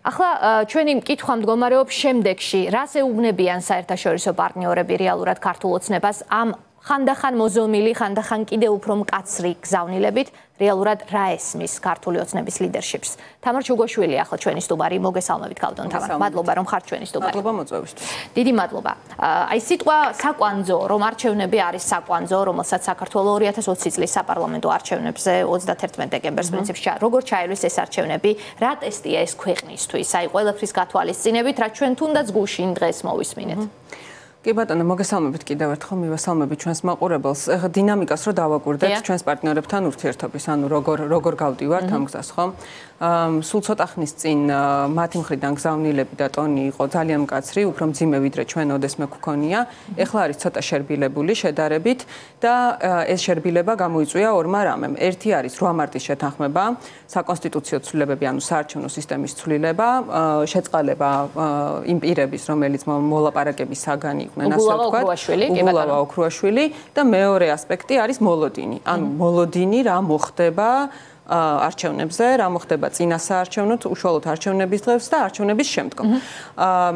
ახლა ჩვენი მკითხვა მდგომარეობს შემდეგში, რას ეუბნებიან საერთაშორისო პარტნიორები რეალურად ქართულ ოცნებას ამ ხანდახან მოზომილი, ხანდახან კიდევ უფრო მკაცრი გზავნილებით, რეალურად რა ესმის ქართული ოცნების ლიდერშიპს. თამარ ჩუგოშვილი ახლა ჩვენი სტუმარი, მოგესალმებით გავდონ თამარ. მადლობა რომ ხართ ჩვენი სტუმარი. მადლობა მოწვევისთვის. დიდი მადლობა. აი სიტყვა საკვანძო, რომ არჩევნები არის საკვანძო, რომელსაც საქართველოს 2020 წლის საპარლამენტო არჩევნებზე 31 დეკემბერს პრინციპში როგორ ჩაერვის ეს არჩევნები, რა ტესტია ეს ქვეყნისთვის, აი ყველაფრის გათვალისწინებით, რა ჩვენ თუნდაც გუშინ დღეს მოვისმინეთ. კი ბატონო, მოგესალმებით კიდევ ერთხელ, მივესალმებით ჩვენს მაყურებელს. დინამიკას რო დავაკვირდეთ ჩვენს პარტნიორებთან ურთიერთობის, ანუ როგორ გავდივართ ამ გზას, ხო? სულ ცოტა ხნის წინ მათი მხრიდან გზავნილები და ტონი იყო ძალიან მკაცრი, უფრო მძიმე ვიდრე ჩვენ ოდესმე გვქონია. ეხლა არის ცოტა შერბილებული შედარებით და ეს შერბილება გამოიწვია ორმა რამემ. ერთი არის 8 მარტის შეთანხმება, საკონსტიტუციო ცვლილებები, ანუ საარჩევნო სისტემის ცვლილება, შეწყალება იმ პირების, რომელიც მოლაპარაკების საგანი იყვნენ, ასე ვთქვათ, უგულავა ოქრუაშვილი და მეორე ასპექტი არის მოლოდინი. ანუ მოლოდინი რა მოხდება არჩევნებზე, რა მოხდება წინა საარჩევნოთ, უშუალოდ არჩევნების დღეს და არჩევნების შემდგომ.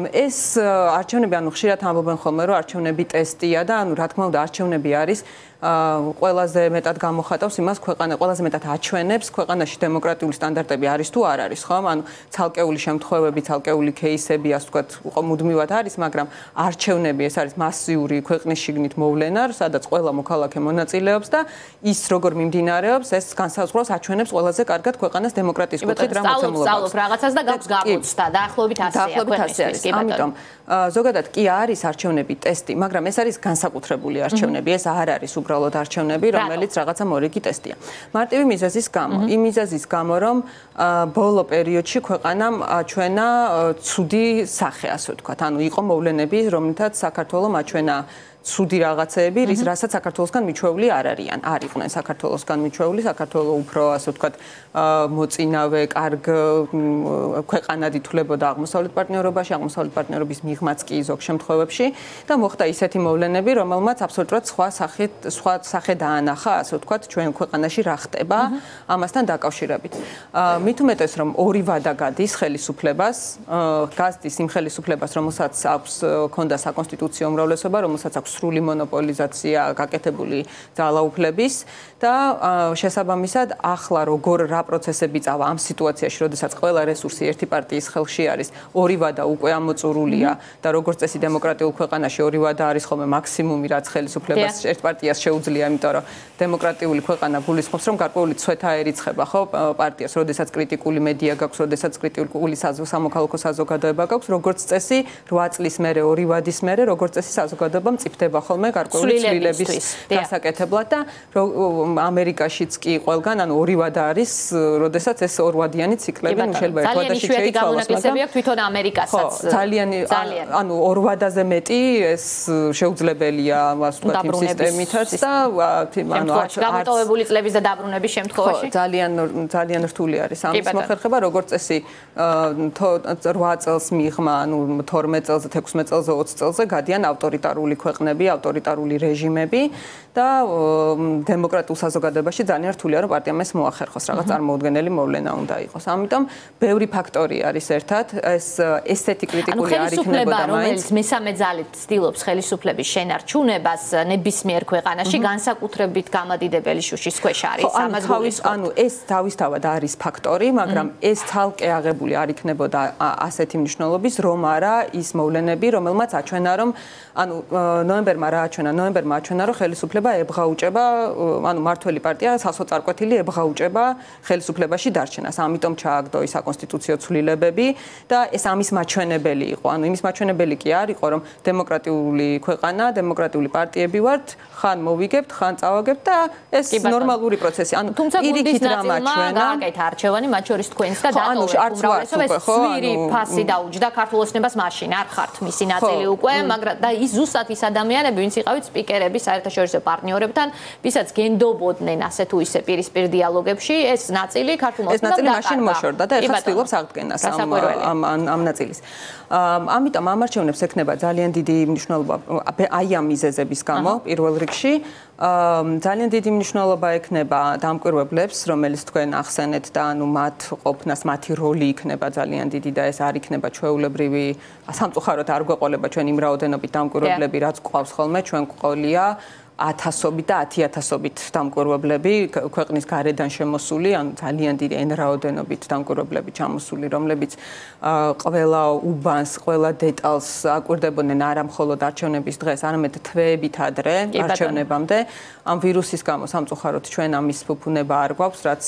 ეს არჩევნები, ანუ ხშირად ამბობენ ხოლმე, რომ არჩევნები ტესტია და ანუ რა თქმა უნდა არჩევნები არის ყველაზე მეტად გამოხატავს იმას, ქვეყანა ყველაზე მეტად აჩვენებს ქვეყანაში დემოკრატიული სტანდარტები არის თუ არ არის, ხო? ანუ ცალკეული შემთხვევები, ცალკეული кейსები, ასე ვთქვათ, მუდმივად არის, მაგრამ არჩევნები ეს არის მასიური ქვეყნის შიგნით მოვლენა, სადაც ყველა მოქალაქე მონაწილეობს და ის როგორ მიმდინარეობს, ეს განსაზღვრავს აჩვენებს ყველაზე კარგად ქვეყანას დემოკრატიის კუთხით რა მოცემულობა. სწავლობ რაღაცას და გაქვს გამოცდა, დაახლოებით ასეა ქვეყნისთვის. ამიტომ ზოგადად კი არის არჩევნები ტესტი, მაგრამ ეს არის განსაკუთრებული არჩევნები, ეს არ არის უბრალოდ არჩევნები, რომელიც რაღაცა მორიგი ტესტია. მარტივი მიზეზის გამო, იმ მიზეზის გამო, რომ ბოლო პერიოდში ქვეყანამ აჩვენა ცუდი სახე, ასე ვთქვათ, ანუ იყო მოვლენები, რომლითაც საქართველოს აჩვენა ცუდი რაღაცეები, რასაც საქართველოსგან მიჩვეული არ არიან. არ იყვნენ საქართველოსგან მიჩვეული, საქართველოს უფრო, ასე ვთქვათ, მოწინავე, კარგ ქვეყანად ითვლებოდა აღმოსავლეთ პარტნიორობაში, აღმოსავლეთ პარტნიორობის მიღმაც კი ზოგ შემთხვევებში და მოხდა ისეთი მოვლენები, რომელმაც აბსოლუტურად სხვა სახე დაანახა, ასე ვთქვათ, ჩვენ ქვეყანაში რა ხდება ამასთან დაკავშირებით. მით უმეტეს, რომ ორი ვადა გადის ხელისუფლებას, გაზდის იმ ხელისუფლებას, რომელსაც აქვს ქონდა საკონსტიტუციო უმრავლესობა, რომელსაც აქვს სრული მონოპოლიზაცია გაკეთებული ძალაუფლების და შესაბამისად ახლა როგორ რა პროცესები წავა ამ სიტუაციაში, როდესაც ყველა რესურსი ერთი პარტიის ხელში არის, ორი ვადა უკვე ამოწურულია და როგორც წესი დემოკრატიულ ქვეყანაში ორი ვადა არის ხოლმე მაქსიმუმი, რაც ხელისუფლებას ერთ პარტიას შეუძლია, იმიტომ რომ დემოკრატიული ქვეყანა გულისხმობს, რომ გარკვეული ცვეთა ერიცხება, ხო, პარტიას, როდესაც კრიტიკული მედია გაქვს, როდესაც კრიტიკული სამოქალაქო საზოგადოება გაქვს, როგორც წესი 8 წლის მერე, ორი ვადის მერე, როგორც წესი საზოგადოება მწიფდება ხოლმე გარკვეული ცვლილების დასაკეთებლად და ამერიკაშიც კი ყველგან, ანუ ორი ვადა არის, როდესაც ეს ორვადიანი ციკლები, ნუ შეიძლება ერთ ვადაში შეიცვალოს, მაგრამ თვითონ ამერიკასაც ძალიან, ანუ ორ ვადაზე მეტი ეს შეუძლებელია, ასე ვთქვათ, იმ სისტემითაც და ანუ გამოტოვებული წლების და დაბრუნების შემთხვევაში ძალიან რთული არის ამის მოხერხება, როგორც წესი 8 წელს მიღმა, ანუ 12 წელზე, 16 წელზე, 20 წელზე გადიან ავტორიტარული ქვეყნები, ავტორიტარული რეჟიმები და დემოკრატიულ საზოგადოებაში ძალიან რთულია რომ პარტიამ ეს მოახერხოს, რაღაც წარმოუდგენელი მოვლენა უნდა იყოს. ამიტომ ბევრი ფაქტორი არის ერთად, ეს ესეთი კრიტიკული არ იქნებოდა მაინც. რომელიც მესამე ძალით ცდილობს ხელისუფლების შენარჩუნებას ნებისმიერ ქვეყანაში, განსაკუთრებით გამადიდებელი შუშის ქვეშ არის. ანუ ეს თავისთავად არის ფაქტორი, მაგრამ ეს ცალკე აღებული არ იქნებოდა ასეთი მნიშვნელობის, რომ არა ის მოვლენები, რომელმაც აჩვენა რომ ანუ ნოემბერმა რა აჩვენა? ნოემბერმა აჩვენა რომ ხელისუფლება ებღაუჭება, ანუ მართველი პარტია სასოწარკვეთილი ებღაუჭება ხელისუფლებაში დარჩენას. ამიტომ ჩააგდო ის საკონსტიტუციო ცვლილებები და ეს ამის მაჩვენებელი იყო. ანუ იმის მაჩვენებელი კი არ იყო, რომ დემოკრატიული ქვეყანა, დემოკრატიული პარტიები ვართ, ხან მოვიგებთ, ხან წავაგებთ და ეს ნორმალური პროცესი. ანუ პირიქით რა მაჩვენა? გააკეთა არჩევანი, მათ შორის თქვენს და დატოვეთ უმრავლესობა, სვირი ფასი დაუჯდა ქართულ ოცნებას მაშინ, არ ხართ მისი ნაწილი უკვე, მაგრამ და ის ზუსტად ის ადამიანები, ვინც იყავით სპიკერები საერთაშორისო პარტნიორებთან, ვისაც გენდობოდნენ ასე თუ ისე პირისპირ დიალოგებში, ეს ნაწილი ქართულ ოცნებამ ეს ნაწილი მაშინ მოშორდა და ეხლა ცდილობს აღდგენას ამ ნაწილის. ამიტომ ამ არჩევნებს ექნება ძალიან დიდი მნიშვნელობა აი ამ მიზეზების გამო პირველ რიგში. ძალიან დიდი მნიშვნელობა ექნება დამკვირვებლებს, რომელიც თქვენ ახსენეთ და ანუ მათ ყოფნას, მათი როლი იქნება ძალიან დიდი და ეს არ იქნება ჩვეულებრივი სამწუხაროდ არ გვეყოლება ჩვენ იმ რაოდენობით დამკვირვებლები, რაც გვყავს ხოლმე, ჩვენ გვყოლია 1000-ობით და 10000-ობით დამკვირვებლები ქვეყნის გარედან შემოსული, ანუ ძალიან დიდი n რაოდენობით დამკვირვებლები ჩამოსული, რომლებიც ყველა უბანს, ყველა დეტალს აკვირდებოდნენ არა მხოლოდ არჩევნების დღეს, არამედ თვეებით ადრე არჩევნებამდე. ამ ვირუსის გამო სამწუხაროდ ჩვენ ამის ფუფუნება არ გვაქვს, რაც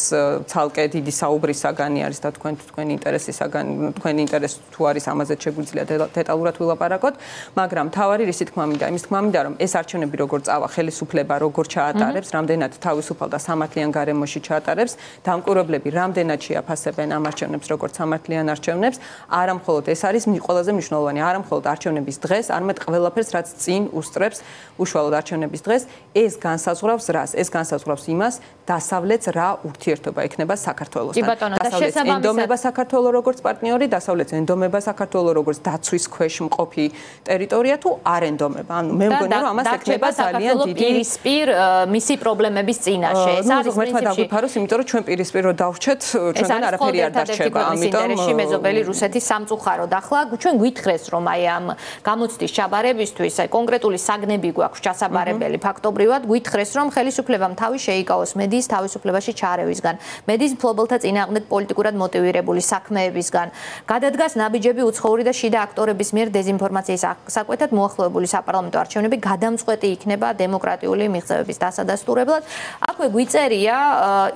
ცალკე დიდი საუბრის საგანი არის და თქვენ ინტერესისაგან, თქვენ ინტერესი თუ არის ამაზე შეგვიძლია დეტალურად ვილაპარაკოთ, მაგრამ თავარი რისი თქმა მინდა, იმის თქმა მინდა, რომ ეს არჩევნები როგორ წავა ხელისუფლება როგორ ჩაატარებს, რამდენად თავისუფალ და სამართლიან გარემოში ჩაატარებს, დამკვირვებლები რამდენად შეაფასებენ ამ არჩევნებს როგორც სამართლიან არჩევნებს, არა მხოლოდ ეს არის ყველაზე მნიშვნელოვანი, არა მხოლოდ არჩევნების დღეს, არამედ ყველაფერს, რაც წინ უსწრებს უშუალოდ არჩევნების დღეს, ეს განსაზღვრავს რას? ეს განსაზღვრავს იმას, დასავლეთს რა ურთიერთობა ექნება საქართველოსთან. დასავლეთს ენდომება საქართველოს როგორც პარტნიორი, დასავლეთს ენდომება საქართველოს როგორც დაცვის ქვეშ მყოფი ტერიტორია თუ არ ენდომება. ანუ მე მგონი რომ ამას ექნება ძალიან პირისპირ მისი პრობლემების წინაშე. ეს არის პრინციპში. დაგვიფაროს, იმიტომ რომ ჩვენ პირისპირ რო დავრჩეთ, ჩვენგან არაფერი არ დარჩება. ამიტომ მეზობელი რუსეთის სამწუხაროდ ახლა ჩვენ გვითხრეს რომ აი ამ გამოცდის ჩაბარებისთვის აი კონკრეტული საგნები გვაქვს ჩასაბარებელი ფაქტობრივად გვითხრეს რომ ხელისუფლებამ თავი შეიკავოს მედიის თავისუფლებაში ჩარევისგან, მედიის მფლობელთა წინააღმდეგ პოლიტიკურად მოტივირებული საქმეებისგან, გადადგას ნაბიჯები უცხოური და შიდა აქტორების მიერ დეзинფორმაციის საკვეთად მოახლოებული საპარლამენტო არჩევნები გადამწყვეტი იქნება დემოკრატიული მიღწევების დასადასტურებლად. აქვე გვიწერია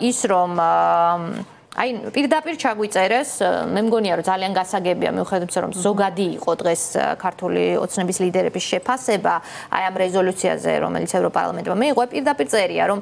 ის რომ აი პირდაპირ ჩაგვიწერეს, მე მგონია რომ ძალიან გასაგებია მიუხედავად რომ ზოგადი იყო დღეს ქართული ოცნების ლიდერების შეფასება აი ამ რეზოლუციაზე, რომელიც ევროპარლამენტმა მიიღო, პირდაპირ წერია რომ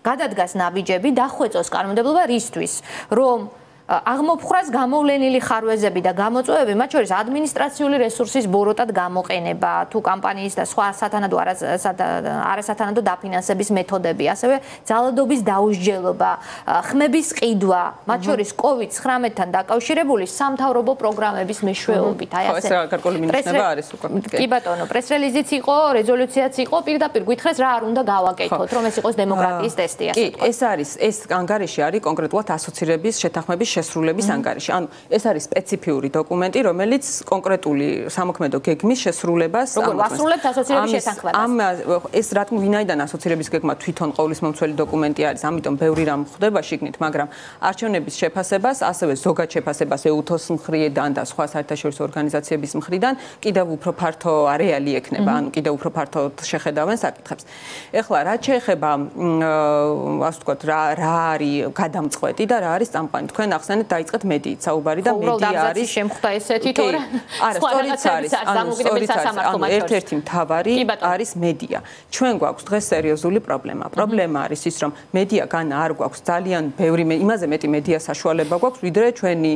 გადადგას ნაბიჯები დახვეწოს კანონმდებლობა რისთვის, რომ აღმოფხრას გამოვლენილი ხარვეზები და გამოწვევები, მათ შორის ადმინისტრაციული რესურსის ბოროტად გამოყენება, თუ კამპანიის და სხვა სათანადო არასათანადო დაფინანსების მეთოდები, ასევე ძალადობის დაუსჯელობა, ხმების ყიდვა, მათ შორის COVID-19-თან დაკავშირებული სამთავრობო პროგრამების მეშვეობით. აი ასე. ეს რა გარკვეული მინიშნება არის უკვე. კი ბატონო, პრეს-რელიზიც იყო, რეზოლუციაც იყო, პირდაპირ გვითხრეს რა არ უნდა გავაკეთოთ, რომ ეს იყოს დემოკრატიის ტესტი, ასე ვთქვათ. კი, ეს არის, ეს ანგარიში არის კონკრეტულად ასოცირების შეთანხმების შესრულების ანგარიში. ანუ ეს არის სპეციფიური დოკუმენტი, რომელიც კონკრეტული სამოქმედო გეგმის შესრულებას როგორ ვასრულებთ ასოცირების შეთანხმებას. ეს რა თქმა ვინაიდან ასოცირების გეგმა თვითონ ყოვლის მომცველი დოკუმენტი არის, ამიტომ ბევრი რამ ხდება შიგნით, მაგრამ არჩევნების შეფასებას, ასევე ზოგად შეფასებას EUTOS მხრიდან და სხვა საერთაშორისო ორგანიზაციების მხრიდან კიდევ უფრო ფართო არეალი ექნება, ანუ კიდევ უფრო ფართოდ შეხედავენ საკითხებს. ეხლა რაც შეეხება ასე ვთქვათ, რა არის გადამწყვეტი და რა არის წამყვანი. თქვენ ახსენეთ დაიწყეთ მედიით საუბარი და მედია არის შემხვდა ესეთი თორე არა სწორიც არის ანუ ერთ-ერთი მთავარი არის მედია. ჩვენ გვაქვს დღეს სერიოზული პრობლემა. პრობლემა არის ის რომ მედია გან არ გვაქვს ძალიან ბევრი იმაზე მეტი მედია საშუალება გვაქვს ვიდრე ჩვენი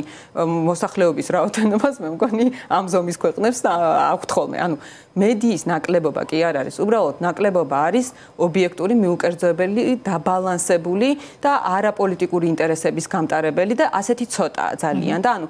მოსახლეობის რაოდენობას მე მგონი ამ ზომის ქვეყნებს აქვთ ხოლმე. ანუ მედიის ნაკლებობა კი არ არის, უბრალოდ ნაკლებობა არის ობიექტური, მიუკერძოებელი, დაბალანსებული და არაპოლიტიკური ინტერესების გამტარებელი და ასეთი ცოტაა ძალიან და ანუ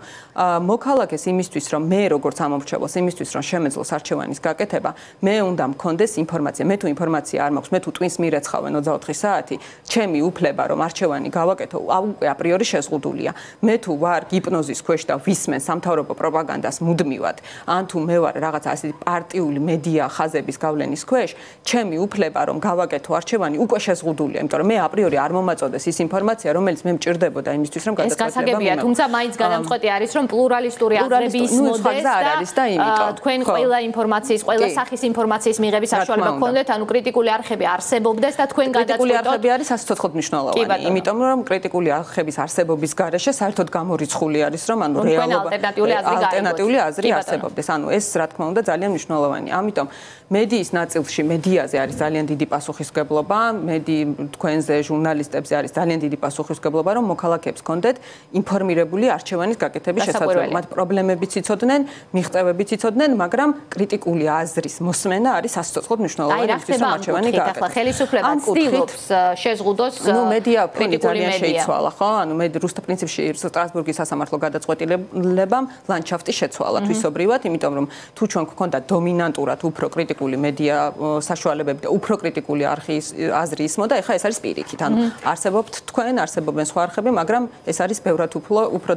მოქალაქეს იმისთვის რომ მე როგორც ამომრჩეველს იმისთვის რომ შემეძლოს არჩევანის გაკეთება, მე უნდა მქონდეს ინფორმაცია. მე თუ ინფორმაცია არ მაქვს, მე თუ ტვინს მირეცხავენ 24 საათი, ჩემი უფლება რომ არჩევანი გავაკეთო, უკვე აპრიორი შეზღუდულია. მე თუ ვარ ჰიპნოზის ქვეშ და ვისმენ სამთავრობო პროპაგანდას მუდმივად, ან თუ მე ვარ რაღაცა ასეთი პარტიული მედია ხაზების გავლენის ქვეშ, ჩემი უფლება რომ გავაკეთო არჩევანი უკვე შეზღუდულია, იმიტომ რომ მე აპრიორი არ მომაწოდეს ის ინფორმაცია, რომელიც მე მჭირდებოდა იმისთვის რომ გასაგებია, თუმცა მაინც გადამწყვეტი არის რომ პლურალისტური აზრები ისმოდეს და თქვენ ყველა ინფორმაციის, ყველა სახის ინფორმაციის მიღების საშუალება გქონდეთ, ანუ კრიტიკული არხები არსებობდეს და თქვენ გადაწყვეტოთ. კრიტიკული არხები არის სასიცოცხლოდ მნიშვნელოვანი, იმიტომ რომ კრიტიკული არხების არსებობის გარეშე საერთოდ გამორიცხული არის რომ ანუ რეალობა ალტერნატიული აზრი არსებობდეს. ანუ ეს რა თქმა უნდა ძალიან მნიშვნელოვანია. ამიტომ მედიის ნაწილში, მედიაზე არის ძალიან დიდი პასუხისმგებლობა, თქვენზე ჟურნალისტებზე არის ძალიან დიდი პასუხისმგებლობა, რომ მოქალაქეებს კონდეთ ინფორმირებული არჩევანის გაკეთების შესაძლებლობა. მათ პრობლემებიც იცოდნენ, მიღწევებიც იცოდნენ, მაგრამ კრიტიკული აზრის მოსმენა არის სასიცოცხლოდ მნიშვნელოვანი ის რომ არჩევანი გააკეთოს. ახლა ხელისუფლება ცდილობს შეზღუდოს მედია ფონი ძალიან შეიცვალა, ხო? ანუ მე რუსთა პრინციპში სტრასბურგის სასამართლო გადაწყვეტილებამ ლანდშაფტი შეცვალა თვისობრივად, იმიტომ რომ თუ ჩვენ გვქონდა დომინანტურად უფრო კრიტიკული მედია საშუალებები და უფრო კრიტიკული აზრი ისმოდა, ეხლა ეს არის პირიქით. ანუ არსებობთ თქვენ, არსებობენ სხვა არხები, მაგრამ ეს არის ბევრად უფრო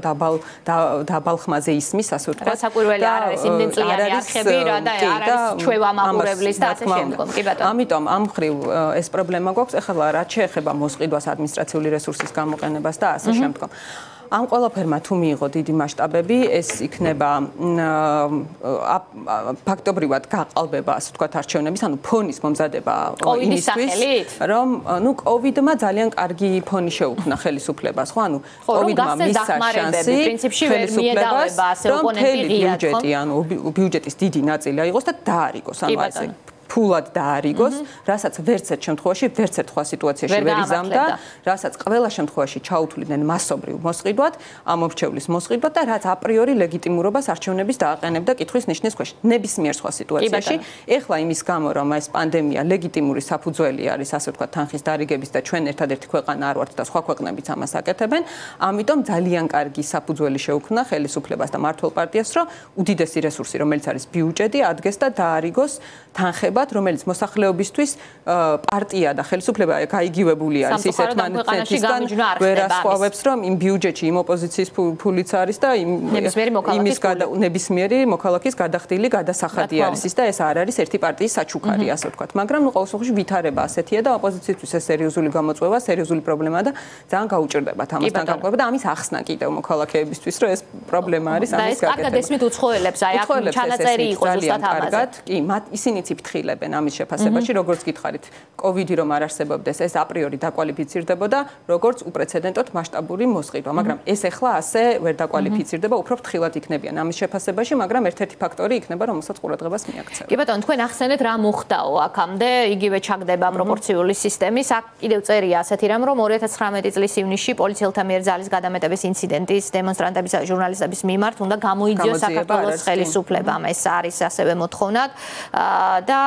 დაბალ ხმაზე ისმის, ასე ვთქვათ. საკვირველი არ არის იმდენ წლიანი არხები რა და არ არის ჩვევამაყურებლის და ასე შემდგომ. კი ბატონო. ამიტომ ამ მხრივ ეს პრობლემა გვაქვს. ეხლა რაც შეეხება მოსყიდვას, ადმინისტრაციული რესურსის გამოყენებას და ასე შემდგომ. ამ ყველაფერმა თუ მიიღო დიდი მასშტაბები, ეს იქნება ფაქტობრივად გაყალბება, ასე ვთქვათ, არჩევნების, ანუ ფონის მომზადება იმისთვის, რომ კოვიდმა ძალიან კარგი ფონი შეუქმნა ხელისუფლებას, ხო? ანუ კოვიდმა მისცა შანსი ხელისუფლებას, რომ ბიუჯეტი, ანუ ბიუჯეტის დიდი ნაწილი აიღოს და დაარიგოს, ანუ ასე ფულად დაარიგოს, რასაც ვერც ერთ შემთხვევაში, ვერც ერთ სხვა სიტუაციაში ვერ იზამდა, რასაც ყველა შემთხვევაში ჩაუთვლიდნენ მასობრივ მოსყიდვად, ამორჩევლის მოსყიდვად და რაც აპრიორი ლეგიტიმურობას არჩევნების დააყენებდა კითხვის ნიშნის ქვეშ. ნებისმიერ სხვა სიტუაციაში, ეხლა იმის გამო, რომ ეს პანდემია ლეგიტიმური საფუძველი არის, ასე ვთქვათ, თანხის დარიგების და ჩვენ ერთადერთი ქვეყანა არ ვართ და სხვა ქვეყნებიც ამას აკეთებენ, ამიტომ ძალიან კარგი საფუძველი შეუქმნა ხელისუფლებას და მმართველ პარტიას, რომ უდიდესი რესურსი, რომელიც არის ბიუჯეტი, ადგეს და დაარიგოს თანხებად, რომელიც მოსახლეობისთვის პარტია და ხელისუფლება გაიგივებული არის ის ერთმანეთისგან ვერ ასხვავებს, რომ იმ ბიუჯეტში იმ ოპოზიციის ფულიც არის და ნებისმიერი მოქალაქის გადახდილი გადასახადი არის ის და ეს არ არის ერთი პარტიის საჩუქარი, ასე ვთქვათ. მაგრამ ყოველ შემთხვევაში ვითარება ასეთია და ოპოზიციისთვის ეს სერიოზული გამოწვევა, სერიოზული პრობლემაა და ძალიან გაუჭირდებათ ამასთან გამყობა და ამის ახსნა კიდევ მოქალაქეებისთვის, რომ ეს პრობლემა არის ამის გაკეთება. კარგად ესმით უცხოელებს, აი აქ ჩანაწერი იყო ზუსტად ამაზე. კი, ისინიც იფრთხილებენ ამის შეფასებაში, როგორც გითხარით, კოვიდი რომ არ არსებობდეს, ეს აპრიორი დაკვალიფიცირდებოდა, როგორც უპრეცედენტოდ მასშტაბური მოსყიდვა, მაგრამ ეს ახლა ასე ვერ დაკვალიფიცირდება, უფრო ფრთხილად იქნებიან ამის შეფასებაში, მაგრამ ერთ-ერთი ფაქტორი იქნება, რომელსაც ყურადღებას მიაქცევთ. კი ბატონო, თქვენ ახსენეთ რა მოხდაო აქამდე, იგივე ჩაგდება პროპორციული სისტემის, აქ კიდევ წერია ასეთი რამ, რომ 2019 წლის ივნისში პოლიციელთა მიერ ძალის გადამეტების ინციდენტის დემონსტრანტების და ჟურნალისტების მიმართ უნდა გამოიძიოს საქართველოს ხელისუფლებამ. ეს არის ასევე მოთხოვნად და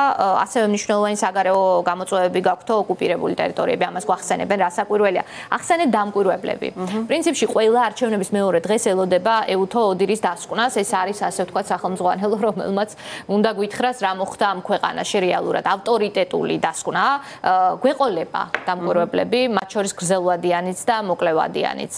ასევე მნიშვნელოვანი საგარეო გამოწვევები გაქვთ ოკუპირებული ტერიტორიები, ამას გვახსენებენ, რა საკვირველია. ახსენეთ დამკვირვებლები. პრინციპში ყველა არჩევნების მეორე დღეს ელოდება ეუთო ოდირის დასკვნას, ეს არის ასე ვთქვათ სახელმძღვანელო, რომელმაც უნდა გვითხრას რა მოხდა ამ ქვეყანაში რეალურად. ავტორიტეტული დასკვნა, გვეყოლება დამკვირვებლები, მათ შორის გრძელვადიანიც და მოკლევადიანიც.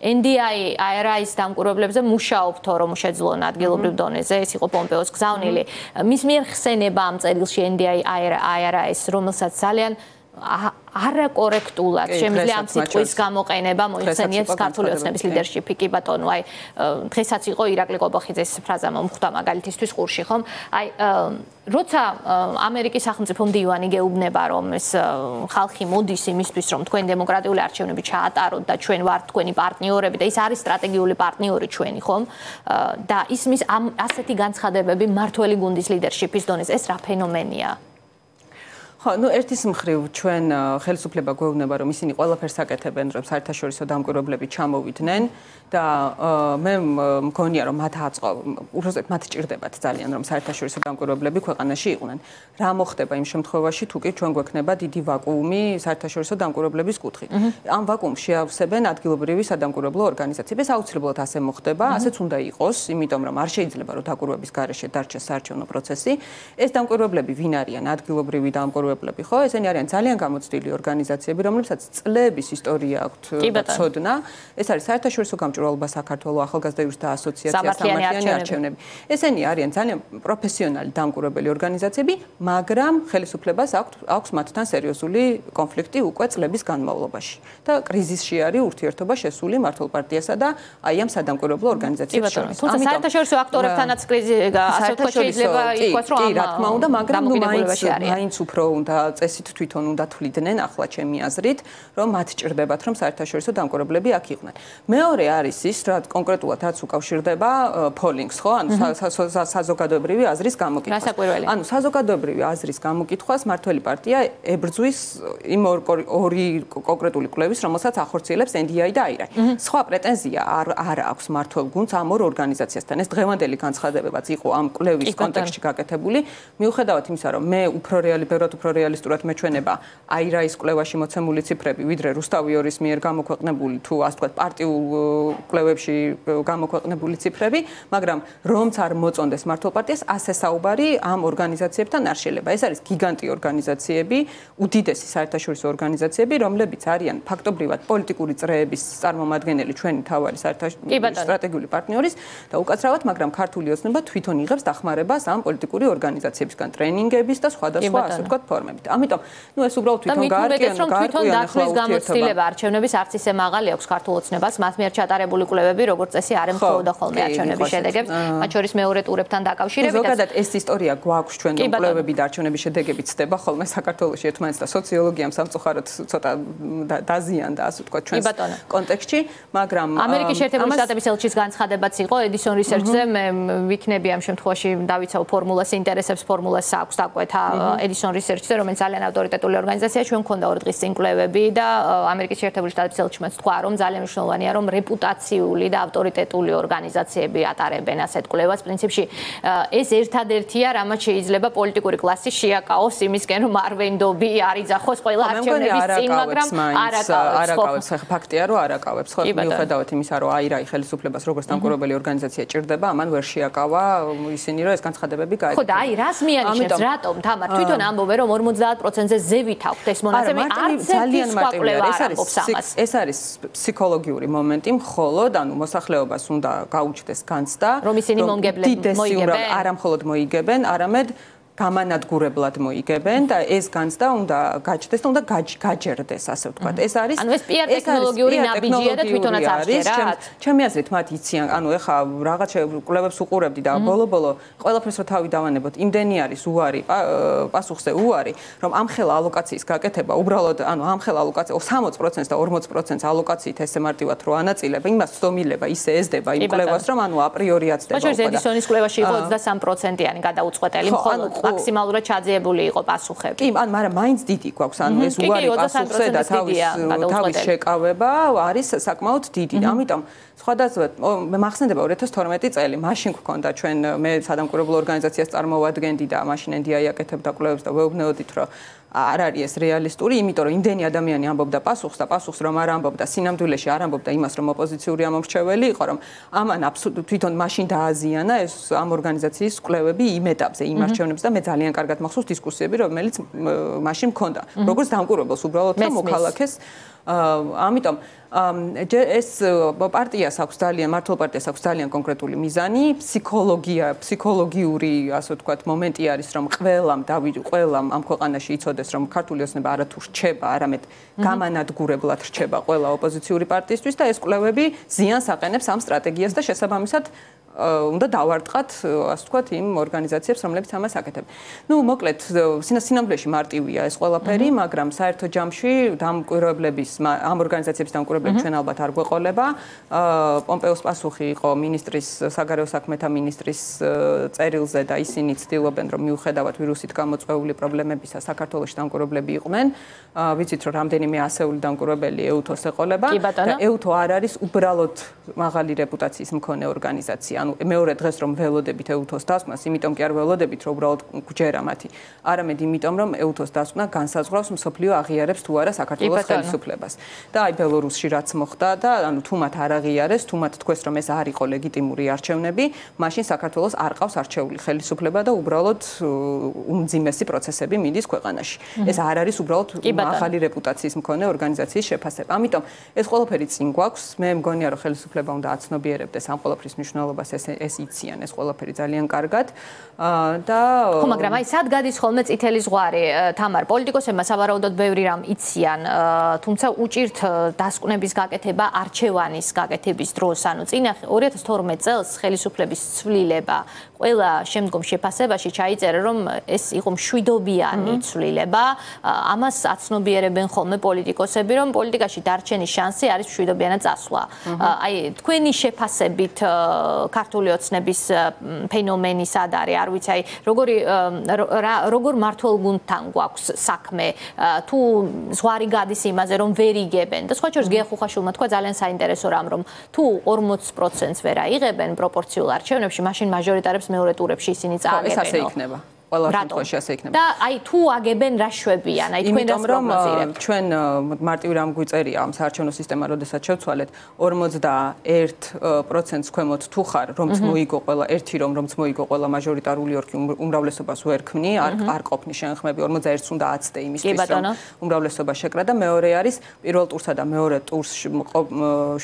NDI-ARI-ის დამკვირვებლებზე მუშაობთო, რომ შეძლონ ადგილობრივ დონეზე, ეს იყო პომპეოს გზავნილი. მის მიერ ხსენება ამ წერილში NDI-ARI-ის, რომელსაც ძალიან არაკორექტულად შემიძლია ამ სიტყვის გამოყენება მოიხსენიებს ქართული ოცნების ლიდერშიპი, კი ბატონო, აი დღესაც იყო ირაკლი ყობოხიძეს ფრაზა მომხვდა მაგალითისთვის ყურში, ხომ? აი როცა ამერიკის სახელმწიფო მდივანი გეუბნება, რომ ეს ხალხი მოდის იმისთვის, რომ თქვენ დემოკრატიული არჩევნები ჩაატაროთ და ჩვენ ვართ თქვენი პარტნიორები და ის არის სტრატეგიული პარტნიორი ჩვენი, ხომ? და ისმის ამ ასეთი განცხადებები მმართველი გუნდის ლიდერშიპის დონეზე, ეს რა ფენომენია? ხო, ერთის მხრივ ჩვენ ხელისუფლება გვეუბნება, რომ ისინი ყველაფერს აკეთებენ, რომ საერთაშორისო დამკვირვებლები ჩამოვიდნენ და მე მგონია, რომ მათ მათ ჭირდებათ ძალიან, რომ საერთაშორისო დამკვირვებლები ქვეყანაში იყვნენ. რა მოხდება იმ შემთხვევაში, თუ კი ჩვენ გვექნება დიდი ვაკუუმი საერთაშორისო დამკვირვებლების კუთხით. ამ ვაკუუმს შეავსებენ ადგილობრივი სადამკვირვებლო ორგანიზაციები. ეს აუცილებლად ასე მოხდება, ასეც უნდა იყოს, იმიტომ რომ არ შეიძლება, რომ დაკვირვების გარეშე დარჩეს საარჩევნო პროცესი. ეს დამკვირვებლები ვინ არიან? ადგილობრივი დამკვირვებლები, ხო? ესენი არიან ძალიან გამოცდილი ორგანიზაციები, რომლებსაც წლების ისტორია აქვთ ცოდნა. ეს არის საერთაშორისო გამჭვირვალობა საქართველოს ახალგაზრდა იურისტთა ასოციაცია, სამართლიანი არჩევნები. ესენი არიან ძალიან პროფესიონალი დამკვირვებელი ორგანიზაციები, მაგრამ ხელისუფლებას აქვს მათთან სერიოზული კონფლიქტი უკვე წლების განმავლობაში. და კრიზისში არის ურთიერთობა შესული მმართველ პარტიასა და აი ამ სადამკვირვებლო ორგანიზაციებს შორის. თუმცა საერთაშორისო აქტორებთანაც კრიზისი ასე ვთქვათ შეიძლება ითქვას, რომ კი, რა თქმა უნდა, მაგრამ მაინც უფრო უნდა წესით თვითონ უნდა თვლიდნენ ახლა ჩემი აზრით, რომ მათ ჭირდებათ რომ საერთაშორისო დამკვირვებლები აქ იყვნენ. მეორე არის ის, რაც კონკრეტულად რაც უკავშირდება polling-ს, ხო? ანუ საზოგადოებრივი აზრის გამოკითხვას. ანუ საზოგადოებრივი აზრის გამოკითხვას მართველი პარტია ებრძვის იმ ორი კონკრეტული კვლევის, რომელსაც ახორციელებს NDI და IRI. სხვა პრეტენზია არ აქვს მართველ გუნდს ამ ორ ორგანიზაციასთან. ეს დღევანდელი განცხადებებაც იყო ამ კვლევის კონტექსტში გაკეთებული. მიუხედავად იმისა, რომ მე ბევრად უფრო რეალისტურად მეჩვენება IRI-ის კვლევაში მოცემული ციფრები, ვიდრე რუსთავიორის მიერ გამოქვეყნებული თუ ასე ვთქვათ პარტიულ კვლევებში გამოქვეყნებული ციფრები, მაგრამ რომც არ მოწონდეს მართლ პარტიას, ასე საუბარი ამ ორგანიზაციებთან არ შეიძლება. ეს არის გიგანტი ორგანიზაციები, უდიდესი საერთაშორისო ორგანიზაციები, რომლებიც არიან ფაქტობრივად პოლიტიკური წრეების წარმომადგენელი ჩვენი თავარი სტრატეგიული პარტნიორის და უკაცრავად, მაგრამ ქართული ოცნება თვითონ იღებს დახმარებას ამ პოლიტიკური ორგანიზაციებისგან ტრენინგების და სხვადასხვა ასე ვთქვათ ფორმებით. ამიტომ, ეს უბრალოდ თვითონ გაარკვიონ დათვლის გამოცდილება არჩევნების არც ისე მაღალი აქვს ქართულ ოცნებას, მათ მიერ ჩატარებული კვლევები, როგორც წესი, არ ემთხვეოდა ხოლმე არჩევნების შედეგებს, მათ შორის მეორე ტურებთან დაკავშირებით. ზოგადად ეს ისტორია გვაქვს ჩვენ რომ კვლევები და არჩევნების შედეგები ცდება ხოლმე საქართველოში ერთმანეთს და სოციოლოგიამ სამწუხაროდ ცოტა დაზიანდა ასე ვთქვათ ჩვენს კონტექსტში, მაგრამ ამერიკის შეერთებული შტატების ელჩის განცხადებაც იყო Edison Research-ზე, მე ვიქნები ამ შემთხვევაში დავიცავ ფორმულას, ინტერესებს ფორმულას აქვს დაკვეთა Edison Research-ზე, რომელიც ძალიან ავტორიტეტული ორგანიზაციაა, ჩვენ მქონდა 2 დღის წინ კვლევები და ამერიკის შეერთებული შტატების ელჩმაც თქვა, რომ ძალიან მნიშვნელოვანია, რომ რეპუტაციული და ავტორიტეტული ორგანიზაციები ატარებენ ასეთ კვლევას. პრინციპში ეს ერთადერთია, რამაც შეიძლება პოლიტიკური კლასი შეაკავოს იმისკენ, რომ არ ვენდობი, არ იძახოს ყველა არჩევნების წინ, მაგრამ არაკავებს. ფაქტია, რომ არაკავებს. ხო, მიუხედავად იმისა, რომ IRI ხელისუფლებას როგორც დამკვირვებელი ორგანიზაცია ჭირდება, ამან ვერ შეაკავა ისინი, რომ ეს განცხადებები გაეკეთებინა. ხო და აი რას მიანიშნებს, რატომ თამარ თვითონ ამბობენ, რომ 50%-ზე ზევით აქვთ ეს მონაცემი, არც ერთი სხვა კვლევა არ ამბობს ამას. ეს არის ფსიქოლოგიური მომენტი, მხოლოდ ანუ მოსახლეობას უნდა გაუჩნდეს განცდა, რომ ისინი მოიგებენ, არა მხოლოდ მოიგებენ, არამედ გამანადგურებლად მოიგებენ და ეს განცდა უნდა გაჩნდეს და უნდა გაჯერდეს, ასე ვთქვათ. ეს არის ანუ ეს PR ტექნოლოგიური ნაბიჯია და თვითონაც არ შეერათ. ჩემი აზრით მათ იციან, ანუ ეხა რაღაც კვლევებს უყურებდი და ბოლო-ბოლო ყველაფერს რო თავი დავანებოთ, იმდენი არის უარი, პასუხზე უარი, რომ ამხელა ალოკაციის გაკეთება, უბრალოდ ანუ ამხელა ალოკაცია 60% და 40% ალოკაციით ესე მარტივად რო ანაწილება, იმას ცდომილება ისე ეზდება იმ კვლევას, რომ ანუ აპრიორი აცდება. მაგრამ Edisonis კვლევაში იყო 23%-იანი გადაუწყვეტელი მხოლოდ მაქსიმალურად ჩაძიებული იყო პასუხები. კი, მაგრამ მაინც დიდი გვაქვს, ანუ ეს უარი პასუხზე და თავის შეკავება არის საკმაოდ დიდი. ამიტომ სხვადასხვა მე მახსენდება 2012 წელი, მაშინ გქონდა ჩვენ მე სადამკვირვებლო ორგანიზაციას წარმოვადგენდი და მაშინ NDI აკეთებდა კვლევებს და ვეუბნეოდით, რომ არ არის ეს რეალისტური, იმიტომ რომ იმდენი ადამიანი ამბობდა პასუხს და პასუხს რომ არ ამბობდა, სინამდვილეში არ ამბობდა იმას, რომ ოპოზიციური ამომრჩეველი იყო, რომ ამან აბსოლუტურად თვითონ მაშინ დააზიანა ეს ამ ორგანიზაციის კვლევები იმ ეტაპზე, იმ არჩევნებზე და მე ძალიან კარგად მახსოვს დისკუსიები, რომელიც მაშინ მქონდა. როგორც დამკვირვებელს უბრალოდ და მოქალაქეს ამიტომ ეს პარტიას აქვს ძალიან მართლ პარტიას აქვს ძალიან კონკრეტული მიზანი, ფსიქოლოგიური, ასე ვთქვათ, მომენტი არის, რომ ყველამ ამ ქვეყანაში იცოდეს, რომ ქართული ოცნება არათუ რჩება, არამედ გამანადგურებლად რჩება ყველა ოპოზიციური პარტიისთვის და ეს კვლევები ზიანს აყენებს ამ სტრატეგიას და შესაბამისად უნდა დავარტყათ, ასე ვთქვათ, იმ ორგანიზაციებს, რომლებიც ამას აკეთებენ. ნუ, მოკლედ, სინამდვილეში მარტივია ეს ყველაფერი, მაგრამ საერთო ჯამში დამკვირვებლების ამ ორგანიზაციების დამკვირვებლები ჩვენ ალბათ არ გვეყოლება. პომპეოს პასუხი იყო მინისტრის, საგარეო საქმეთა მინისტრის წერილზე და ისინი ცდილობენ, რომ მიუხედავად ვირუსით გამოწვეული პრობლემებისა, საქართველოში დამკვირვებლები იყვნენ. ვიცით, რომ რამდენიმე ასეული დამკვირვებელი EUTO-ს ეყოლება და EUTO არ არის უბრალოდ მაღალი რეპუტაციის მქონე ორგანიზაცია. ანუ მეორე დღეს რომ ველოდებით EUTO-ს დასკვნას, იმიტომ კი არ ველოდებით, რომ უბრალოდ გჯერა მათი. არამედ იმიტომ, რომ EUTO-ს დასკვნა განსაზღვრავს მსოფლიო აღიარებს თუ არა საქართველოს ხელისუფლებას. და აი ბელორუსში რაც მოხდა და ანუ თუ მათ არ აღიარეს, თუ მათ თქვეს, რომ ეს არ იყო ლეგიტიმური არჩევნები, მაშინ საქართველოს არ ყავს არჩეული ხელისუფლება და უბრალოდ უმძიმესი პროცესები მიდის ქვეყანაში. ეს არ არის უბრალოდ მაღალი რეპუტაციის მქონე ორგანიზაციის შეფასება. ამიტომ ეს ყველაფერი წინ გვაქვს. მე მგონია, რომ ხელისუფლება უნდა აცნობიერებდეს ამ ყველაფრის მნიშვნელობას ამას ეს იციან ეს ყველაფერი ძალიან კარგად და ხო მაგრამ აი სად გადის ხოლმე წითელი ზღვარი თამარ პოლიტიკოსებმა სავარაუდოდ ბევრი რამ იციან თუმცა უჭირთ დასკვნების გაკეთება არჩევანის გაკეთების დროს ანუ წინა 2012 წელს ხელისუფლების ცვლილება ყველა შემდგომ შეფასებაში ჩაიწერა რომ ეს იყო მშვიდობიანი ცვლილება ამას აცნობიერებენ ხოლმე პოლიტიკოსები რომ პოლიტიკაში დარჩენის შანსი არის მშვიდობიანად წასვლა აი თქვენი შეფასებით ქართული ოცნების ფენომენი სად არის არ ვიცი აი როგორ მართულ გუნდთან გვაქვს საქმე თუ ზღვარი გადის იმაზე რომ ვერ იგებენ და სხვა შორის გია ხუხაშვილმა თქვა ძალიან საინტერესო რამ რომ თუ 40%-ს ვერ აიღებენ პროპორციულ არჩევნებში მაშინ მაჟორიტარებს მეორე ტურებში ისინი წააგებენ ეს ასე იქნება ყველა შემთხვევაში ასე იქნება. და აი თუ აგებენ რა შვებიან, აი თქვენ რას პროგნოზირებთ? ჩვენ მარტივი რამ გვიწერია ამ საარჩევნო სისტემა, როდესაც შევცვალეთ 41%-ს ქვემოთ თუ ხარ, რომც მოიგო ყველა ერთი რომც მოიგო ყველა მაჟორიტარული ოლქი უმრავლესობას ვერ ქმნი, არ ყოფნი შენხმები 41-ს უნდა აცდე იმისთვის, რომ უმრავლესობა შეკრა და მეორე არის პირველ ტურსა და მეორე ტურს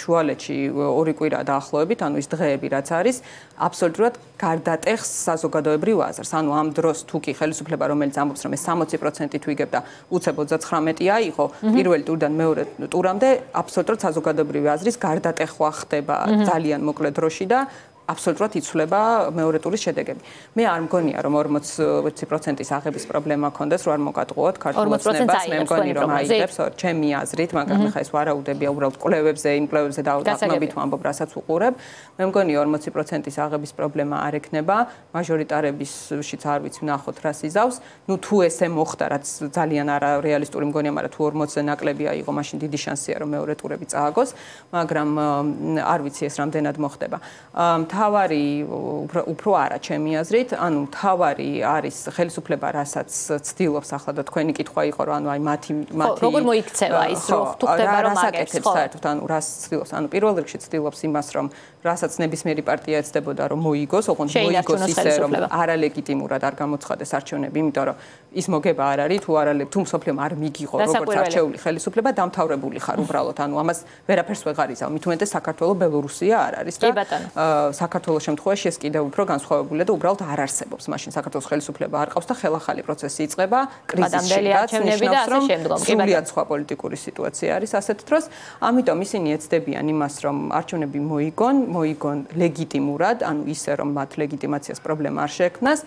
შუალედში ორი კვირა დაახლოებით, ანუ ის დღეები რაც არის, აბსოლუტურად გარდატეხს საზოგადოებრივ აზრს. ანუ ამ დროს თუ კი ხელისუფლება რომელიც ამბობს რომ ეს 60% თუ იგებდა უცებ 39 აიღო პირველი ტურიდან მეორე ტურამდე აბსოლუტურად საზოგადოებრივი აზრის გარდატეხვა ხდება ძალიან მოკლე დროში და აბსოლუტურად იცვლება მეორე ტურის შედეგები. მე არ მგონია რომ 40%-ის აღების პრობლემა ქონდეს, რომ არ მოგატყუოთ ქართულ ოცნებას, მე მგონი რომ აიღებს ჩემი აზრით, მაგრამ ხა ეს ვარაუდებია უბრალოდ კვლევებზე, იმ კვლევებზე დაახლოებით ვამბობ, რასაც უყურებ. მე მგონი 40%-ის აღების პრობლემა არ ექნება, მაჟორიტარებისშიც არ ვიცი ვნახოთ რა სიზავს. ნუ თუ ესე მოხდა, რაც ძალიან არარეალისტური მგონია, მაგრამ თუ 40-ზე ნაკლები აიღო, მაშინ დიდი შანსია რომ მეორე ტურები წააგოს, მაგრამ არ ვიცი ეს რამდენად მოხდება. თავარი უფრო არა ჩემი აზრით, ანუ თავარი არის ხელისუფლება, რასაც ცდილობს ახლა და თქვენი კითხვა იყო, რომ ანუ აი მათი როგორ მოიქცევა ის რომ თუ ხდება რომ აგებს ხო? საერთოდ ანუ რას ცდილობს? ანუ პირველ რიგში ცდილობს იმას, რომ რასაც ნებისმიერი პარტია ეცდებოდა, რომ მოიგოს, ოღონდ მოიგოს ისე, რომ არალეგიტიმურად არ გამოცხადეს არჩევნები, იმიტომ რომ ის მოგება არ არის, თუ მსოფლიომ არ მიგიღო როგორც არჩეული ხელისუფლება, დამთავრებული ხარ უბრალოდ, ანუ ამას ვერაფერს ვეღარ იზავ. მით უმეტეს საქართველოს ბელორუსია არ არის და საქართველოს შემთხვევაში ეს კიდევ უფრო განსხვავებულია და უბრალოდ არ არსებობს. მაშინ საქართველოს ხელისუფლება არ ყავს და ხელახალი პროცესი იწყება კრიზისში და ნიშნავს, რომ სრულიად სხვა პოლიტიკური სიტუაცია არის ასეთ დროს. ამიტომ ისინი ეცდებიან იმას, რომ არჩევნები მოიგონ ლეგიტიმურად, ანუ ისე, რომ მათ ლეგიტიმაციას პრობლემა არ შეექმნას.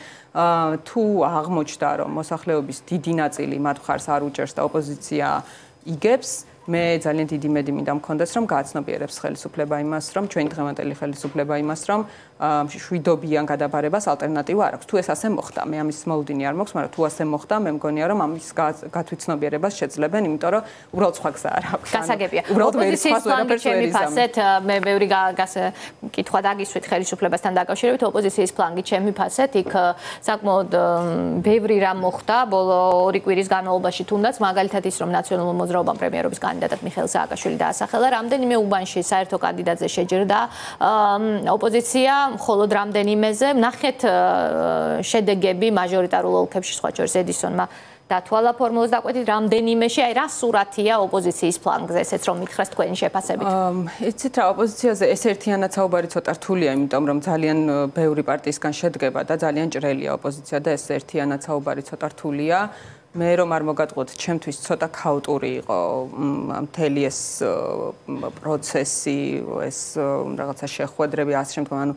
თუ აღმოჩნდა, რომ მოსახლეობის დიდი ნაწილი მათ მხარს არ უჭერს და ოპოზიცია იგებს, მე ძალიან დიდი იმედი მინდა მქონდეს, რომ გააცნობიერებს ხელისუფლება იმას, რომ ჩვენი დღევანდელი ხელისუფლება იმას, რომ შვიდობიან გადაბარებას ალტერნატივა არ აქვს. თუ ეს ასე მოხდა, მე ამის მოლოდინი არ მაქვს, მაგრამ თუ ასე მოხდა, მე მგონია, რომ ამის გათვითცნობიერებას შეძლებენ, იმიტომ რომ უბრალოდ სხვა გზა არ აქვს. გასაგებია. ოპოზიციის ფლანგით შემიფასეთ, მე ბევრი კითხვა დაგისვით ხელისუფლებასთან დაკავშირებით, ოპოზიციის ფლანგით შემიფასეთ, იქ საკმაოდ ბევრი რამ მოხდა ბოლო ორი კვირის განმავლობაში თუნდაც, მაგალითად ის, რომ ნაციონალურ მოძრაობამ პრემიერობის კანდიდატად მიხეილ სააკაშვილი დაასახელა, რამდენიმე უბანში საერთო კანდიდატზე შეჯერდა ოპოზიცია მხოლოდ რამდენიმეზე ნახეთ შედეგები მაჟორიტარულ ოლქებში სხვა შორის ედისონმა დათვალა ფორმულას დაკვეთით რამდენიმეში აი რა სურათია ოპოზიციის ფლანგზე ესეც რომ მითხრას თქვენი შეფასებით იცით რა ოპოზიციაზე ეს ერთიანად საუბარი ცოტა რთულია იმიტომ რომ ძალიან ბევრი პარტიისგან შედგება და ძალიან ჭრელია ოპოზიცია და ეს ერთიანად საუბარი ცოტა რთულია მე რომ არ მოგატყუოთ ჩემთვის ცოტა ქაოტური იყო მთელი ეს პროცესი ეს რაღაცა შეხვედრები ასე შემდგომ ანუ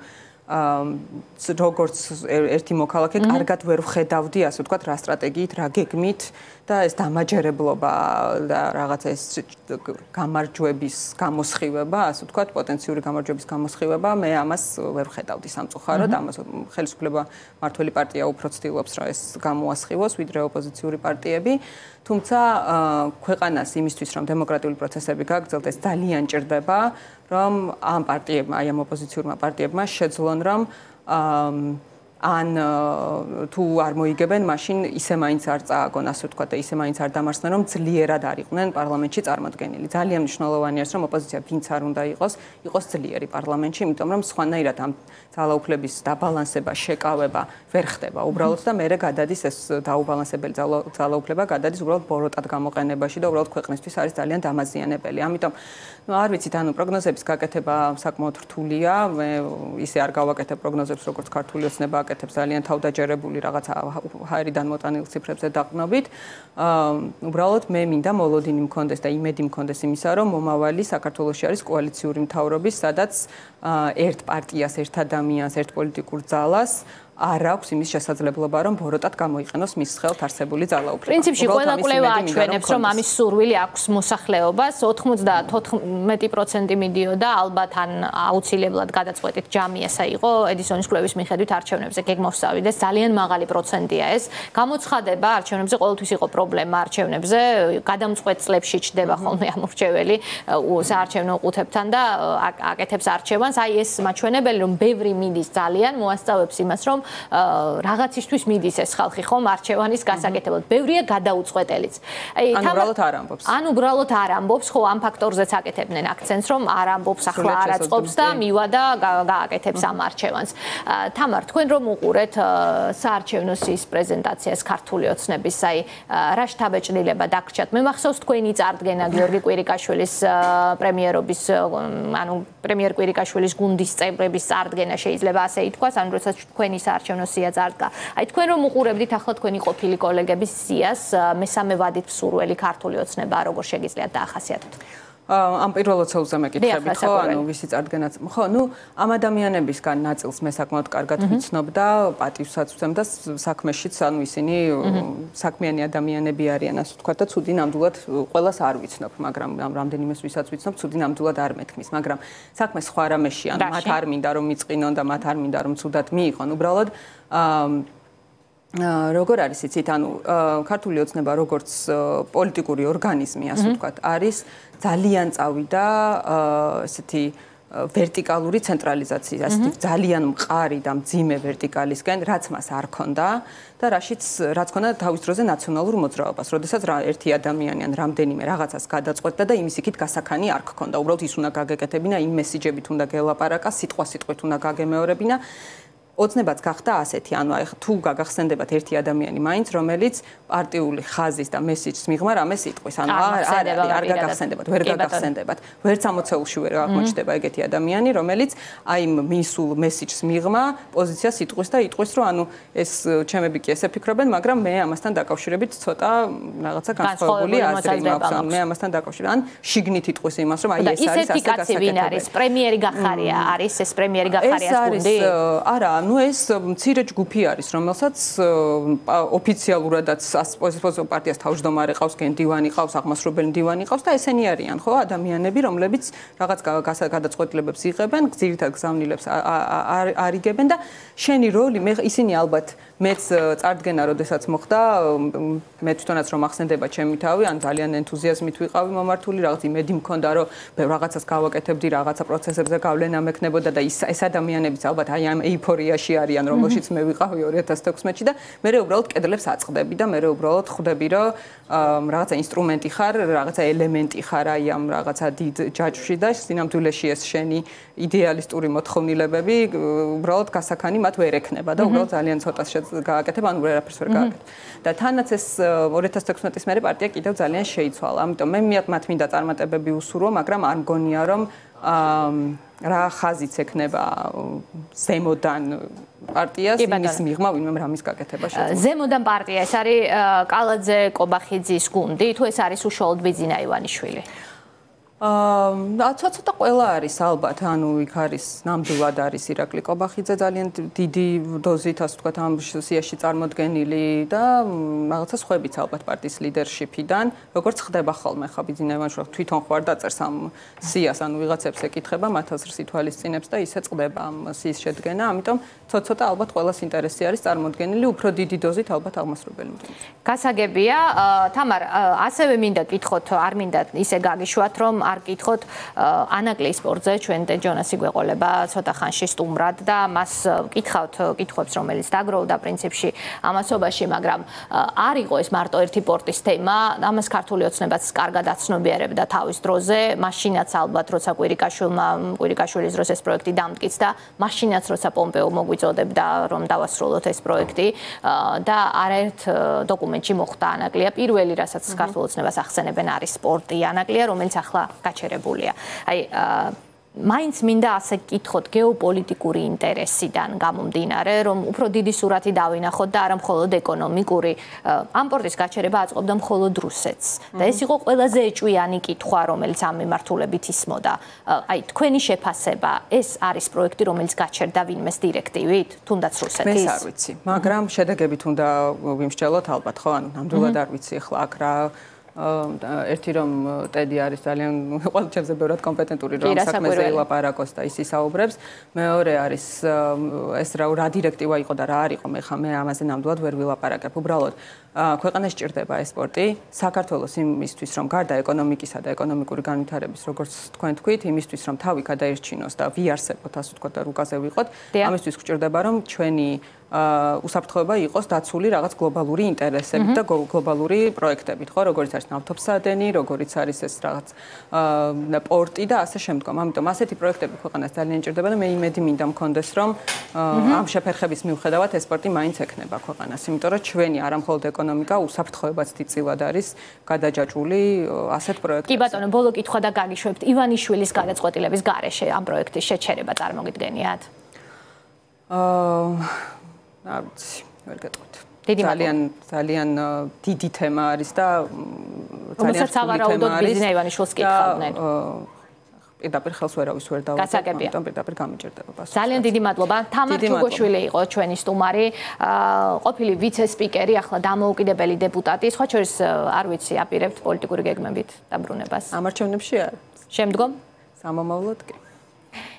როგორც ერთი მოქალაქე კარგად ვერ ვხედავდი ასე ვთქვათ რა სტრატეგიით რა გეგმით და ეს დამაჯერებლობა და რაღაცა ეს გამარჯვების გამოსხივება ასე ვთქვათ პოტენციური გამარჯვების გამოსხივება მე ამას ვერ ვხედავდი სამწუხაროდ ამას ხელისუფლება მართველი პარტია უფრო ცდილობს რომ ეს გამოასხივოს ვიდრე ოპოზიციური პარტიები თუმცა ქვეყანას იმისთვის რომ დემოკრატიული პროცესები გაგრძელდეს ძალიან ჭირდება რომ ამ პარტიებმა აი ამ ოპოზიციურმა პარტიებმა შეძლონ რომ ან თუ არ მოიგებენ, მაშინ ისე მაინც არ წააგონ, ასე ვთქვათ, და ისე მაინც არ დამარცხდნენ, რომ ძლიერად არ იყვნენ პარლამენტში წარმოდგენილი. ძალიან მნიშვნელოვანია, რომ ოპოზიცია ვინც არ უნდა იყოს ძლიერი პარლამენტში, იმიტომ რომ სხვანაირად ამ ძალაუფლების დაბალანსება, შეკავება ვერ ხდება უბრალოდ და მერე გადადის ეს დაუბალანსებელი ძალაუფლება გადადის უბრალოდ ბოროტად გამოყენებაში და უბრალოდ ქვეყნისთვის არის ძალიან დამაზიანებელი. ამიტომ არ ვიცით, პროგნოზების გაკეთება საკმაოდ რთულია. მე ისე არ გავაკეთებ პროგნოზებს, როგორც ქართული ოცნება აკეთებს, ძალიან თავდაჯერებული რაღაცა ჰაერიდან მოტანილ ციფრებზე დაყრდნობით. უბრალოდ მე მინდა მოლოდინი მქონდეს და იმედი მქონდეს იმისა, რომ მომავალი საქართველოში არის კოალიციური მთავრობის, სადაც ერთ პარტიას, ერთ ადამიანს, ერთ პოლიტიკურ ძალას არ აქვს იმის შესაძლებლობა, რომ ბოროტად გამოიყენოს მის ხელთ არსებული ძალაუფლება. პრინციპში ყველა კვლევა აჩვენებს, რომ ამის სურვილი აქვს მოსახლეობას, 94% მიდიოდა, ალბათ ან აუცილებლად გადაწყვეტით ჯამიასა იყო ედისონის კვლევის მიხედვით არჩევნებზე გეგმოვსავიდეს, ძალიან მაღალი პროცენტია ეს. გამოცხადება არჩევნებზე ყოველთვის იყო პრობლემა არჩევნებზე, გადამწყვეტ წლებში ჩდება ხოლმე ამორჩეველი საარჩევნო ყუთებთან და აკეთებს არჩევანს. აი ეს მაჩვენებელი, რომ ბევრი მიდის ძალიან მოასწავებს იმას, რომ რაღაცისთვის მიდის ეს ხალხი ხომ არჩევანის გასაკეთებლად. ბევრია გადაუწყვეტელიც. ან უბრალოდ არ ამბობს. ან უბრალოდ არ ამბობს, ხო ამ ფაქტორზეც აკეთებდნენ აქცენტს, რომ არ ამბობს, ახლა არ აწყობს და მივა და გააკეთებს ამ არჩევანს. თამარ, თქვენ რომ უყურეთ საარჩევნო სიის პრეზენტაციას ქართული ოცნების, აი რა შთაბეჭდილება დაგრჩათ? მე მახსოვს თქვენი წარდგენა გიორგი კვირიკაშვილის პრემიერობის, ანუ პრემიერ კვირიკაშვილის გუნდის წევრების წარდგენა შეიძლება ასე ითქვას, ანუ როდესაც თქვენი საარჩევნო სია წარდგა. აი თქვენ რომ უყურებდით ახლა თქვენი ყოფილი კოლეგების სიას, მესამე ვადით მსურველი ქართული ოცნება როგორ შეგიძლიათ დაახასიათოთ? ამ პირველ ოცეულზე მეკითხებით, ხო, ანუ ვისი წარდგენაც. ხო, ამ ადამიანებისგან ნაწილს მე საკმაოდ კარგად ვიცნობ და პატივსაც ვცემ და საქმეშიც, ანუ ისინი საქმიანი ადამიანები არიან, ასე ვთქვათ და ცუდი ნამდვილად ყველას არ ვიცნობ, მაგრამ რამდენიმეს ვისაც ვიცნობ, ცუდი ნამდვილად არ მეთქმის, მაგრამ საქმე სხვა რამეში, ანუ მათ არ მინდა რომ მიწყინონ და მათ არ მინდა რომ ცუდად მიიღონ, უბრალოდ როგორ არის იცით, ანუ ქართული ოცნება როგორც პოლიტიკური ორგანიზმი, ასე ვთქვათ, არის ძალიან წავიდა ესეთი ვერტიკალური ცენტრალიზაციის, ასეთი ძალიან მყარი და მძიმე ვერტიკალისკენ, რაც მას არ ქონდა და რაც ქონდა თავის დროზე ნაციონალურ მოძრაობას, როდესაც ერთი ადამიანი ან რამდენიმე რაღაცას გადაწყვეტდა და იმის იქით გასაქანი არ გქონდა. უბრალოდ ის უნდა გაგეკეთებინა, იმ მესიჯებით უნდა გელაპარაკა, სიტყვასიტყვით უნდა გაგემეორებინა. ოცნებაც გახდა ასეთი, ანუ აი თუ გაგახსენდებათ ერთი ადამიანი მაინც, რომელიც პარტიული ხაზის და მესიჯს მიღმა რამეს იტყვის, ანუ არ გაგახსენდებათ, ვერ გაგახსენდებათ. ვერც ამოცეულში ვერ აღმოჩნდება ეგეთი ადამიანი, რომელიც აი მისულ მესიჯს მიღმა, პოზიციას იტყვის და იტყვის, რომ ანუ ეს ჩემები კი ესე ფიქრობენ, მაგრამ მე ამასთან დაკავშირებით ცოტა რაღაცა განსხვავებული აზრი მაქვს, ან მე ამასთან დაკავშირებით, ან შიგნით იტყვის იმას, რომ აი ეს არის ასე გასაკეთებელი. ვინ არის? პრემიერი გახარია, არის ეს პრემიერი გახარიას გუნდი? არა, ეს მცირე ჯგუფი არის, რომელსაც ოფიციალურადაც ოპოზიციურ პარტიას თავმჯდომარე ყავს, გენდივანი ყავს, აღმასრულებელი მდივანი ყავს და ესენი არიან, ხო, ადამიანები, რომლებიც რაღაც გადაწყვეტილებებს იღებენ, ძირითად გზავნილებს არიგებენ და შენი როლი, ისინი ალბათ მეც წარდგენა, როდესაც მოხდა, მე თვითონაც რომ ახსენდება ჩემი თავი, ან ძალიან ენთუზიაზმით ვიყავი მომართული, რაღაც იმედი მქონდა, რომ რაღაცას გავაკეთებდი, რაღაცა პროცესებზე გავლენა მექნებოდა და ეს ადამიანებიც ალბათ აი ამ ეიფორიაში არიან, რომელშიც მე ვიყავი 2016-ში და მე უბრალოდ კედლებს აწყდები და მე უბრალოდ ხვდები, რომ რაღაცა ინსტრუმენტი ხარ, რაღაცა ელემენტი ხარ აი ამ რაღაცა დიდ ჯაჭვში და სინამდვილეში ეს შენი იდეალისტური მოთხოვნილებები უბრალოდ გასაქანი მათ ვერ ექნება და უბრალოდ ძალიან ცოტას გააკეთებ, ანუ ვერაფერს ვერ გააკეთებ. და თანაც ეს 2016-ის მერე პარტია კიდევ ძალიან შეიცვალა. ამიტომ მე მათ მინდა წარმატებები უსურვო, მაგრამ არ მგონია რომ რა ხაზიც ექნება ზემოდან პარტიას იმის მიღმა ვინმე რამის გაკეთება შეძლო. ზემოდან პარტია ეს არის კალაძე კობახიძის გუნდი, თუ ეს არის უშუალოდ ბიძინა ივანიშვილი? ცოტა ყველა არის ალბათ, ანუ იქ არის ნამდვილად არის ირაკლი კობახიძე ძალიან დიდი დოზით, ასე ვთქვათ, ამ სიაში წარმოდგენილი და რაღაცა სხვაებიც ალბათ პარტიის ლიდერშიპიდან, როგორც ხდება ხოლმე ხა ბიძინა ივანიშვილი თვითონ ხوار დაწერს ამ სიას, ანუ ვიღაცებს ეკითხება, მათ აზრს ითვალისწინებს და ისე წყდება ამ სიის შედგენა, ამიტომ ცოტა ალბათ ყველას ინტერესი არის წარმოდგენილი, უფრო დიდი დოზით ალბათ აღმასრულებელი მდივანი. გასაგებია, თამარ, ასევე მინდა კითხოთ, არ მინდა ისე გაგიშვათ, რომ არ გითხოთ ანაკლიის სპორტზე ჩვენ ჯონასი გვეყოლება ცოტა ხანში სტუმრად და მას გითხავთ კითხვებს რომელიც დაგროვდა პრინციპში ამასობაში, მაგრამ არ იყო ეს მარტო ერთი პორტის თემა, ამას ქართული ოცნებაც კარგად აცნობიერებდა თავის დროზე, მაშინაც ალბათ როცა კვირიკაშვილის დროს ეს პროექტი დამტკიცდა, მაშინაც როცა პომპეო მოგვიწოდებდა რომ დავასრულოთ ეს პროექტი და არაერთ დოკუმენტში მოხვდა ანაკლია. პირველი რასაც ქართულ ოცნებას ახსენებენ არის სპორტი ანაკლია, რომელიც ახლა გაჩერებულია. აი მაინც მინდა ასე გკითხოთ გეოპოლიტიკური ინტერესიდან გამომდინარე, რომ უფრო დიდი სურათი დავინახოთ და არა მხოლოდ ეკონომიკური. ამ პორტის გაჩერება აწყობდა მხოლოდ რუსეთს. და ეს იყო ყველაზე ეჭვიანი კითხვა, რომელიც ამ მიმართულებით ისმოდა. აი, თქვენი შეფასება, ეს არის პროექტი, რომელიც გაჩერდა ვინმეს დირექტივით, თუნდაც რუსეთის? მე არ ვიცი, მაგრამ შედეგებით უნდა ვიმსჯელოთ ალბათ, ხო? ანუ ნამდვილად არ ვიცი ახლა აქ რა ერთი რომ ტედი არის ძალიან ყოველ ჩემზე ბევრად კომპეტენტური რომ საქმეზე ილაპარაკოს და ის ისაუბრებს. მეორე არის ეს რა დირექტივა იყო და რა არ იყო, მე ამაზე ნამდვილად ვერ ვილაპარაკებ. უბრალოდ ქვეყანას ჭირდება ეს სპორტი საქართველოს იმისთვის რომ გარდა ეკონომიკისა და ეკონომიკური განვითარების როგორც თქვენ თქვით, იმისთვის რომ თავი გადაერჩინოს და ვიარსებოთ, ასე ვთქვათ და რუკაზე ვიყოთ, ამისთვის გვჭირდება რომ ჩვენი უსაფრთხოება იყოს დაცული რაღაც გლობალური ინტერესებით და გლობალური პროექტებით, ხო, როგორც არის ნავთობსადენი, როგორც არის ეს რაღაც პორტი და ასე შემდგომ. ამიტომ ასეთი პროექტები ქვეყანას ძალიან ჭირდება და მე იმედი მინდა მქონდეს, რომ ამ შეფერხების მიუხედავად ეს სპორტი მაინც ექნება ქვეყანას, იმიტომ რომ ჩვენი არა მხოლოდ ეკონომიკა უსაფრთხოებაც დიდწილად არის გადაჯაჭვული ასეთ პროექტებში. კი ბატონო, ბოლო კითხვა და გაგიშვებთ. ივანიშვილის გადაწყვეტილების გარეშე ამ პროექტის შეჩერება წარმოგიდგენიათ? არ ვიცი, ვერ გეტყვით. ძალიან დიდი თემა არის და ძალიან სავარაუდოდ ბიზნეს ივანიშვილს კითხავდნენ. პირდაპირ ხელს ვერავის ვერ დავუწყებ, ამიტომ პირდაპირ გამიჭირდება პასუხი. ძალიან დიდი მადლობა. თამარ ჯუგოშვილი იყო ჩვენი სტუმარი, ყოფილი ვიცე-სპიკერი, ახლა დამოუკიდებელი დეპუტატი. სხვა შორის არ ვიცი, აპირებთ პოლიტიკური გეგმებით დაბრუნებას. ამარჩევნებში არ. შემდგომ? სამომავლოდ კი.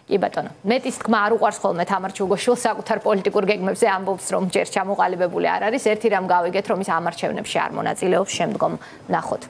კი ბატონო, მეტის თქმა არ უყვარს ხოლმე თამარ ჯუგოშვილს საკუთარ პოლიტიკურ გეგმებზე ამბობს, რომ ჯერ ჩამოყალიბებული არ არის. ერთი რამ გავიგეთ, რომ ის ამარჩევნებში არ მონაწილეობს, შემდგომ ვნახოთ.